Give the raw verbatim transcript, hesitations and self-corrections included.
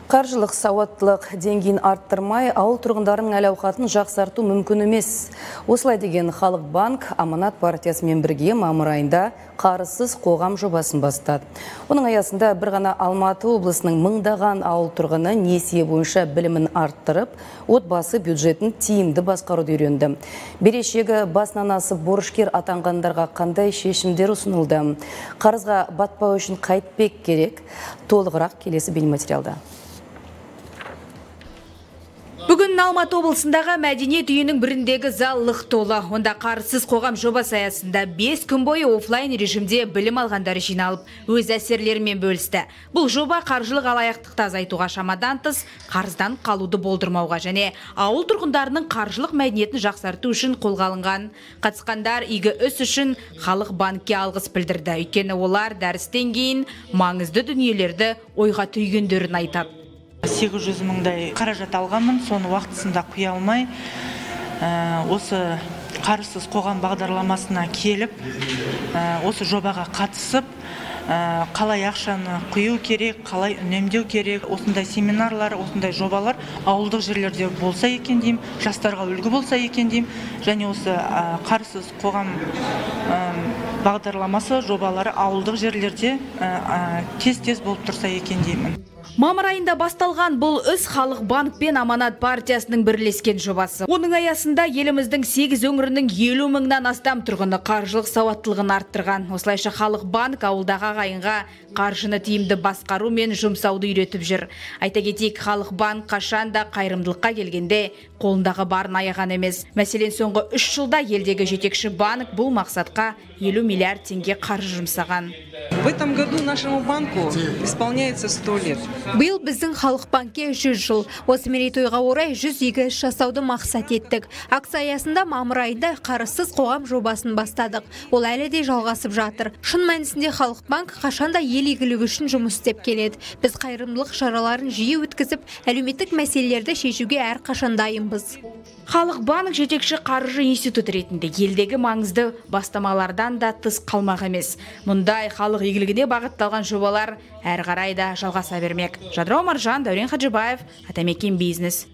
Қаржылық сауаттылық деңгейін арттырмай, ауыл тұрғындарының әл-ауқатын жақсарту мүмкін емес. Осылай деген Халық банк Аманат партиясымен бірге мамыр айында қарызсыз қоғам жобасын бастады. Оның аясында бір ғана Алматы облысының мыңдаған ауыл тұрғыны несие бойынша білімін арттырып, отбасы бюджетін тиімді басқаруды үйренді. Берешегі басынан асып борышкер атанғандарға қандай шешімдер ұсынылды? Қарызға батпау үшін қайтпек керек? Толығырақ келесі бейнематериалда. Бүгін Алматы облысындағы мәдениет үйінің біріндегі зал лық толы. Онда қарызсыз қоғам жобасы аясында бес күн бойы офлайн режимде білім алғандар жиналып, өз әсерлерімен бөлісті. Бұл жоба қаржылық алаяқтықты азайтуға, шамадан тыс қарыздан қалуды болдырмауға және ауыл тұрғындарының қаржылық мәдениетін жақсарту үшін қолға алынған. Қатысқандар игі іс үшін Халық банкке алғыс білдірді. Өйткені олар дәрістен кейін маңызды дүниелерді ойға түйгендерін айтады. сегіз жүз мыңдай қаражат алғанмын, соны уақытысында құя алмай, осы қарызсыз қоғам бағдарламасына келіп, осы жобаға қатысып, қалай ақшаны құю керек, қалай үнемдеу керек, осындай семинарлар, осындай жобалар ауылдық жерлерде болса екен деймін, жастарға үлгі болса екен деймін, және осы қарызсыз қоғам бағдарламасы жобалары ауылдық жерлерде тез-тез болып тұрса екен деймін. Мамыр айында басталған бұл іс Халық банк пен Аманат партиясының бірлескен жобасы. Оның аясында еліміздің сегіз өңірінің елу мыңнан астам тұрғыны қаржылық сауаттылығын арттырған. Осылайша Халық банк ауылдағы ағайынға қаржыны тиімді басқару мен жұмсауды үйретіп жүр. Айта кетейік, Халық банк қашанда қайырымдылыққа келгенде қолындағы барын аяған емес. Мәселен, соңғы үш жылда елдегі жетекші банк бұл мақсатқа елу миллиард теңге қаржы жұмсаған. В этом году нашему банку исполняется сто лет. Биыл біздің Халық банкке жүз жыл. Осы мерейтойға орай жүз игі іс жасауды мақсат еттік. Акция аясында мамыр айында қарызсыз қоғам жобасын бастадық. Ол әлі де жалғасып жатыр. Шын мәнісінде Халық банк қашанда ел игілігі үшін жұмыс істеп келеді. Біз қайырымдылық шараларын жиі өткізіп, әлеуметтік мәселелерді шешуге әрқашан дайынбыз. Халық банк жетекші қаржы институт ретінде елдегі маңызды бастамалардан да тыс қалмақ емес. Мұндай халық игілігіне бағытталған жобалар әрі қарай да жалғаса бермек. Жадыра Омаржан, Дәурен Хаджибаев, Атамекен бизнес.